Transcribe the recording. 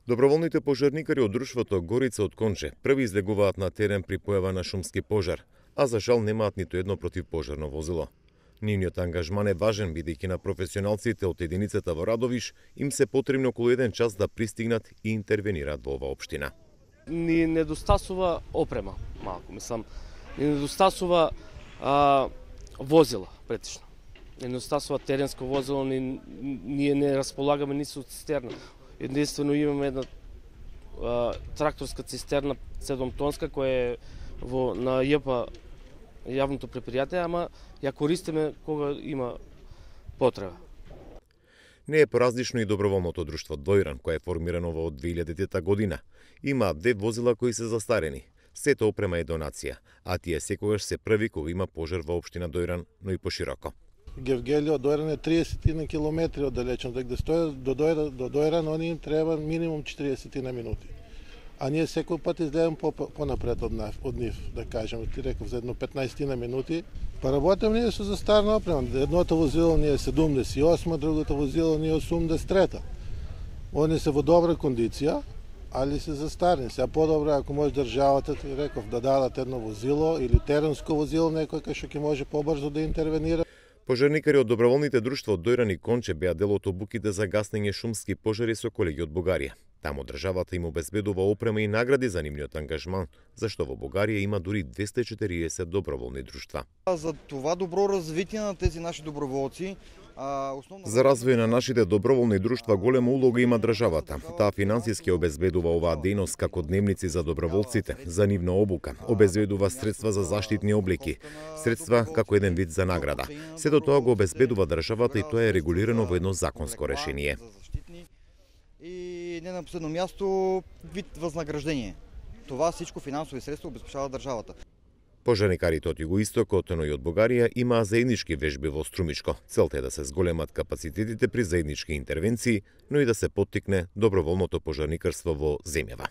Доброволните пожарникари од друштвото Горица од Конче први излегуваат на терен при појава на шумски пожар, а за жал немаат ниту едно противпожарно возило. Нивниот ангажман е важен, бидејќи на професионалците од единицата во Радовиш им се потребно околу 1 час да пристигнат и интервенираат во оваа општина. Ни недостасува опрема, малку, мислам, ни недостасува возила, претежно. Ни недостасува теренско возило, ние не располагаме ни со цистерна. Единствено имаме една тракторска цистерна 7-тонска која е на ЈП јавното предпријатие, ама ја користиме кога има потреба. Не е поразлично и доброволното друштво Дојран, кое е формирано во 2000 година. Има 2 возила кои се застарени. Сето опрема е донација, а тие секогаш се први кога има пожар во општина Дојран, но и пошироко. Гевгелија од Дојран е 30 километри оддалечено, дека да стојат до Дојран, они им треба минимум 40 минути. А ние секој пат излезем понапред од нив, да кажеме, ти реков за едно 15 минути. Па работиме ние со застарна опрема. Едното возило ни е 78, другото возило ни е 83. Они се во добра кондиција, али се застарни. Сега подобро ако може државата, ти реков, да дадат едно возило или теренско возило, некој кај што ќе може побрзо да интервенира. Пожарникари од доброволните друштва од Дојран и Конче беа дел од обуките за гаснење шумски пожари со колеги од Бугарија. Таму државата им обезбедува опрема и награди за нивниот ангажман, зашто во Бугарија има дури 240 доброволни друштва. За това добро развитие на тези наши доброволци, За развој на нашите доброволни друштва голема улога има државата. Таа финансиски обезбедува оваа дејност како дневници за доброволците, за нивна обука, обезбедува средства за заштитни облики, средства како еден вид за награда. Сето тоа го обезбедува државата и тоа е регулирано во едно законско решение. И не на последно място вид възнаграждение. Това всичко финансови средства обезпечава државата. Пожарникарите од Југоистокот, но и од Бугарија имаа заеднички вежби во Струмичко. Целта е да се зголемат капацитетите при заеднички интервенции, но и да се поттикне доброволното пожарникарство во земјава.